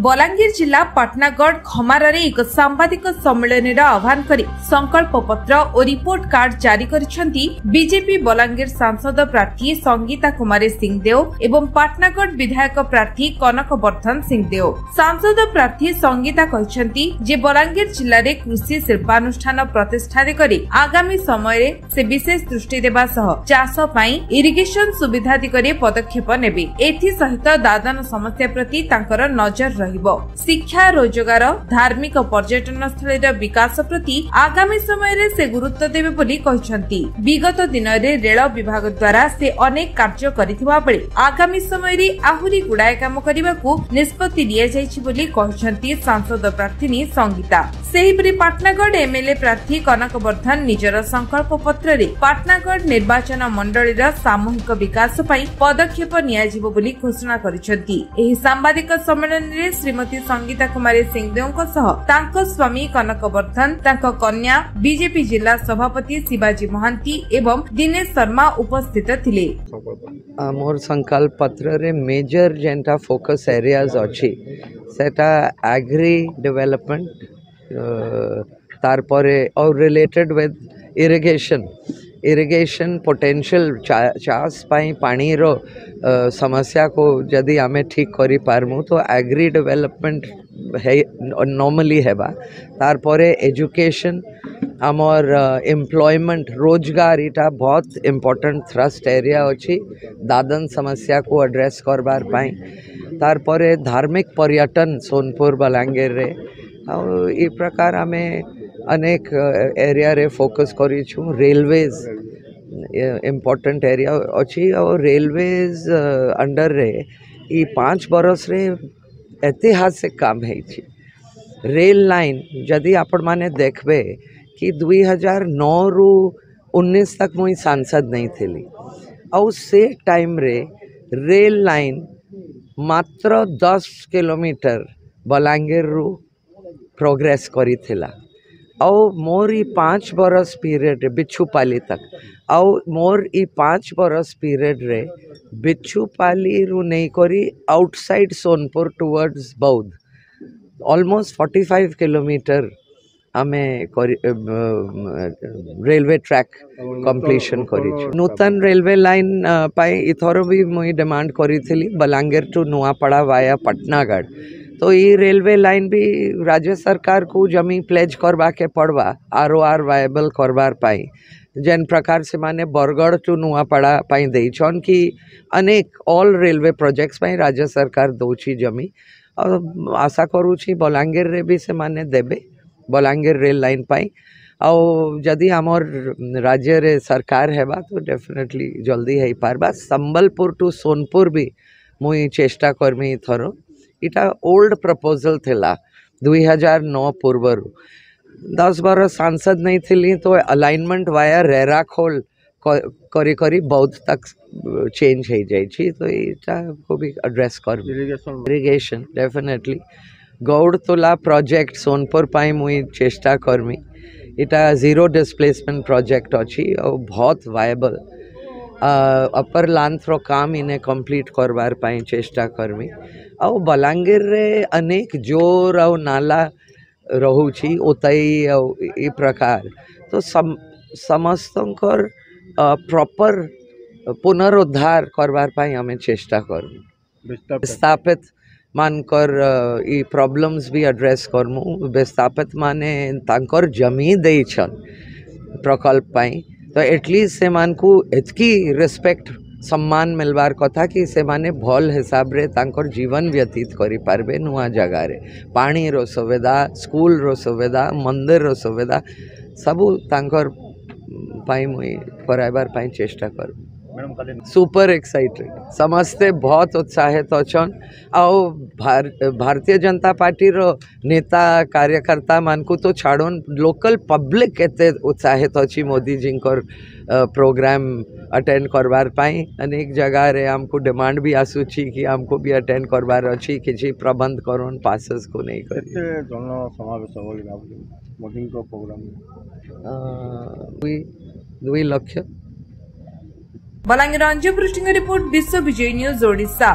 ବଲାଙ୍ଗୀର ଜିଲ୍ଲା ପାଟନାଗଡ଼ ଖମାରରେ ଏକ ସାମ୍ବାଦିକ ସମ୍ମିଳନୀର ଆହ୍ୱାନ କରି ସଂକଳ୍ପ ପତ୍ର ଓ ରିପୋର୍ଟ କାର୍ଡ ଜାରି କରିଛନ୍ତି ବିଜେପି ବଲାଙ୍ଗୀର ସାଂସଦ ପ୍ରାର୍ଥୀ ସଙ୍ଗୀତା କୁମାରୀ ସିଂଦେଓ ଏବଂ ପାଟନାଗଡ଼ ବିଧାୟକ ପ୍ରାର୍ଥୀ କନକ ବର୍ଦ୍ଧନ ସିଂଦେଓ। ସାଂସଦ ପ୍ରାର୍ଥୀ ସଙ୍ଗୀତା କହିଛନ୍ତି ଯେ ବଲାଙ୍ଗୀର ଜିଲ୍ଲାରେ କୃଷି ଶିଳ୍ପାନୁଷ୍ଠାନ ପ୍ରତିଷ୍ଠା ଦିଗରେ ଆଗାମୀ ସମୟରେ ସେ ବିଶେଷ ଦୃଷ୍ଟି ଦେବା ସହ ଚାଷ ପାଇଁ ଇରିଗେସନ ସୁବିଧା ଦିଗରେ ପଦକ୍ଷେପ ନେବେ। ଏଥିସହିତ ଦାଦନ ସମସ୍ୟା ପ୍ରତି ତାଙ୍କର ନଜର ରହିବ। ଶିକ୍ଷା, ରୋଜଗାର, ଧାର୍ମିକ ପର୍ଯ୍ୟଟନସ୍ଥଳୀର ବିକାଶ ପ୍ରତି ଆଗାମୀ ସମୟରେ ସେ ଗୁରୁତ୍ୱ ଦେବେ ବୋଲି କହିଛନ୍ତି। ବିଗତ ଦିନରେ ରେଳ ବିଭାଗ ଦ୍ୱାରା ସେ ଅନେକ କାର୍ଯ୍ୟ କରିଥିବା ବେଳେ ଆଗାମୀ ସମୟରେ ଆହୁରି ଗୁଡ଼ାଏ କାମ କରିବାକୁ ନିଷ୍ପତ୍ତି ନିଆଯାଇଛି ବୋଲି କହିଛନ୍ତି ସାଂସଦ ପ୍ରାର୍ଥିନୀ ସଙ୍ଗୀତା। ସେହିପରି ପାଟନାଗଡ଼ ଏମ୍ଏଲ୍ଏ ପ୍ରାର୍ଥୀ କନକ ବର୍ଦ୍ଧନ ନିଜର ସଂକଳ୍ପ ପତ୍ରରେ ପାଟନାଗଡ଼ ନିର୍ବାଚନ ମଣ୍ଡଳୀର ସାମୂହିକ ବିକାଶ ପାଇଁ ପଦକ୍ଷେପ ନିଆଯିବ ବୋଲି ଘୋଷଣା କରିଛନ୍ତି। ଏହି ସାମ୍ବାଦିକ ସମ୍ମିଳନୀରେ ଶ୍ରୀମତୀ ସଙ୍ଗୀତା କୁମାରୀ ସିଂଦେଓଙ୍କ ସହ ତାଙ୍କ ସ୍ୱାମୀ କନକ ବର୍ଦ୍ଧନ, ତାଙ୍କ କନ୍ୟା, ବିଜେପି ଜିଲ୍ଲା ସଭାପତି ଶିବାଜୀ ମହାନ୍ତି ଏବଂ ଦିନେଶ ଶର୍ମା ଉପସ୍ଥିତ ଥିଲେ। ମୋର ସଂକଳ୍ପ ପତ୍ରରେ ମେଜର ଯେନ୍ଟା ଫୋକସ୍ ଏରିଆଜ ଅଛି, ସେଟା ଆଗ୍ରି ଡେଭଲପମେଣ୍ଟ, ତାରପରେ ଆଉ related with irrigation, irrigation potential. ଚାଷ ପାଇଁ ପାଣିର ସମସ୍ୟାକୁ ଯଦି ଆମେ ଠିକ୍ କରିପାରମୁ ତ ଆଗ୍ରି ଡେଭଲପମେଣ୍ଟ ହେଇ ନର୍ମାଲି ହେବା। ତାରପରେ ଏଜୁକେସନ୍, ଆମର ଏମ୍ପ୍ଲୟମେଣ୍ଟ, ରୋଜଗାର, ଏଇଟା ବହୁତ ଇମ୍ପୋର୍ଟାଣ୍ଟ ଥ୍ରଷ୍ଟ ଏରିଆ ଅଛି ଦାଦନ ସମସ୍ୟାକୁ ଆଡ୍ରେସ୍ କରବାର ପାଇଁ। ତାରପରେ ଧାର୍ମିକ ପର୍ଯ୍ୟଟନ ସୋନପୁର ବଲାଙ୍ଗୀରରେ, ଆଉ ଏ ପ୍ରକାର ଆମେ ଅନେକ ଏରିଆରେ ଫୋକସ୍ କରିଛୁ। ରେଲୱେଜ୍ ଇମ୍ପୋର୍ଟାଣ୍ଟ ଏରିଆ ଅଛି, ଆଉ ରେଲୱେଜ୍ ଅଣ୍ଡରରେ ଇ 5 ବରଷରେ ଐତିହାସିକ କାମ ହେଇଛି। ରେଲ୍ ଲାଇନ୍ ଯଦି ଆପଣମାନେ ଦେଖିବେ କି 2009ରୁ 19 ତକ୍ ମୁଇଁ ସାଂସଦ ନେଇ ଥିଲି, ଆଉ ସେ ଟାଇମ୍ରେ ରେଲ୍ ଲାଇନ୍ ମାତ୍ର 10 କିଲୋମିଟର ବଲାଙ୍ଗୀରରୁ ପ୍ରୋଗ୍ରେସ୍ କରିଥିଲା, ଆଉ ମୋର ଇ 5 ବରଷ ପିରିୟଡ଼ରେ ବିଛୁପାଲି ତକ୍, ଆଉ ମୋର ଇ 5 ବରଷ ପିରିୟଡ଼ରେ ବିଛୁପାଲିରୁ ନେଇକରି ଆଉଟସାଇଡ଼୍ ସୋନପୁର ଟୁୱାର୍ଡ଼ସ୍ ବୌଦ୍ଧ ଅଲମୋଷ୍ଟ 45 କିଲୋମିଟର ଆମେ କରି ରେଲୱେ ଟ୍ରାକ୍ କମ୍ପ୍ଲିସନ୍ କରିଛୁ। ନୂତନ ରେଲୱେ ଲାଇନ୍ ପାଇଁ ଏଥର ବି ମୁଇଁ ଡିମାଣ୍ଡ କରିଥିଲି ବଲାଙ୍ଗୀର ଟୁ ନୂଆପଡ଼ା ଭାୟା ପାଟନାଗଡ଼। ତ ଇ ରେଲୱେ ଲାଇନ୍ ବି ରାଜ୍ୟ ସରକାରକୁ ଜମି ପ୍ଲେଜ୍ କରବାକେ ପଡ଼ବା ଆର୍ ଓ ଆର୍ ଭାଏବଲ୍ କରବାର୍ ପାଇଁ, ଯେନ୍ ପ୍ରକାର ସେମାନେ ବରଗଡ଼ ଟୁ ନୂଆପଡ଼ା ପାଇଁ ଦେଇଛନ୍ କି ଅନେକ ଅଲ୍ ରେଲୱେ ପ୍ରୋଜେକ୍ଟସ୍ ପାଇଁ ରାଜ୍ୟ ସରକାର ଦଉଛି ଜମି। ଆଉ ଆଶା କରୁଛି ବଲାଙ୍ଗୀରରେ ବି ସେମାନେ ଦେବେ ବଲାଙ୍ଗୀର ରେଲ୍ ଲାଇନ୍ ପାଇଁ, ଆଉ ଯଦି ଆମର୍ ରାଜ୍ୟରେ ସରକାର ହେବା ତ ଡେଫିନେଟଲି ଜଲ୍ଦି ହେଇପାରବା। ସମ୍ବଲପୁର ଟୁ ସୋନପୁର ବି ମୁଇଁ ଚେଷ୍ଟା କରମି ଏଥର। ଇଟା ଓଲ୍ଡ ପ୍ରପୋଜାଲ୍ ଥିଲା 2009 ପୂର୍ବରୁ। 10 ବରଷ ସାଂସଦ ନେଇଥିଲି ତ ଆଲାଇନମେଣ୍ଟ ଭାୟା ରେରାଖୋଲ କରି କରି ବୌଦ୍ଧ ତକ୍ ଚେଞ୍ଜ ହେଇଯାଇଛି, ତ ଏଇଟାକୁ ବି ଆଡ୍ରେସ୍ କରିବି। ଇରିଗେସନ୍ ଡେଫିନେଟଲି, ଗୌଡ଼ତୋଲା ପ୍ରୋଜେକ୍ଟ ସୋନପୁର ପାଇଁ ମୁଇଁ ଚେଷ୍ଟା କରମି। ଏଇଟା ଜିରୋ ଡିସପ୍ଲେସମେଣ୍ଟ ପ୍ରୋଜେକ୍ଟ ଅଛି ଆଉ ବହୁତ ଭାଏବଲ୍। ଅପର ଲାନ୍ଥର କାମ ଇନେ କମ୍ପ୍ଲିଟ୍ କରବାର ପାଇଁ ଚେଷ୍ଟା କରମି। ଆଉ ବଲାଙ୍ଗୀରରେ ଅନେକ ଜୋର ଆଉ ନାଲା ରହୁଛି, ଓତାଇ ଆଉ ଏ ପ୍ରକାର, ତ ସମସ୍ତଙ୍କର ପ୍ରପର ପୁନରୁଦ୍ଧାର କରବାର ପାଇଁ ଆମେ ଚେଷ୍ଟା କରମୁ। ବିସ୍ଥାପିତ ମାନଙ୍କର ଇ ପ୍ରୋବ୍ଲେମ୍ସ ବି ଆଡ୍ରେସ୍ କରମୁ। ବିସ୍ଥାପିତ ମାନେ ତାଙ୍କର ଜମି ଦେଇଛନ୍ ପ୍ରକଳ୍ପ ପାଇଁ, ତ ଏଟଲିଷ୍ଟ ସେମାନଙ୍କୁ ଏତ୍କି ରେସ୍ପେକ୍ଟ, ସମ୍ମାନ ମିଲବାର କଥା କି ସେମାନେ ଭଲ ହିସାବରେ ତାଙ୍କର ଜୀବନ ବ୍ୟତୀତ କରିପାରିବେ ନୂଆ ଜାଗାରେ। ପାଣିର ସୁବିଧା, ସ୍କୁଲର ସୁବିଧା, ମନ୍ଦିରର ସୁବିଧା ସବୁ ତାଙ୍କର ପାଇଁ ମୁଇଁ କରାଇବାର ପାଇଁ ଚେଷ୍ଟା କରିବି। ସୁପର ଏକ୍ସାଇଟେଡ୍, ସମସ୍ତେ ବହୁତ ଉତ୍ସାହିତ ଅଛନ୍। ଆଉ ଭାରତୀୟ ଜନତା ପାର୍ଟିର ନେତା କାର୍ଯ୍ୟକର୍ତ୍ତା ମାନଙ୍କୁ ତ ଛାଡ଼ୁନ୍, ଲୋକାଲ ପବ୍ଲିକ ଏତେ ଉତ୍ସାହିତ ଅଛି ମୋଦିଜୀଙ୍କର ପ୍ରୋଗ୍ରାମ ଆଟେଣ୍ଡ କରବାର ପାଇଁ। ଅନେକ ଜାଗାରେ ଆମକୁ ଡିମାଣ୍ଡ ବି ଆସୁଛି କି ଆମକୁ ବି ଆଟେଣ୍ଡ କରବାର ଅଛି, କିଛି ପ୍ରବନ୍ଧ କରୁନ୍ ପାସେସକୁ ନେଇକରି। କେତେ ଜନ ସମାବେଶ ବୋଲି ଭାବୁଛନ୍ତି ମୋଦିଙ୍କ ପ୍ରୋଗ୍ରାମ? 2 ଲକ୍ଷ। ବଲାଙ୍ଗୀର ଅଞ୍ଜୁ ପୃଷ୍ଟିଙ୍କ ରିପୋର୍ଟ, ବିଶ୍ୱ ବିଜୟୀ ନ୍ୟୁଜ୍ ଓଡ଼ିଶା।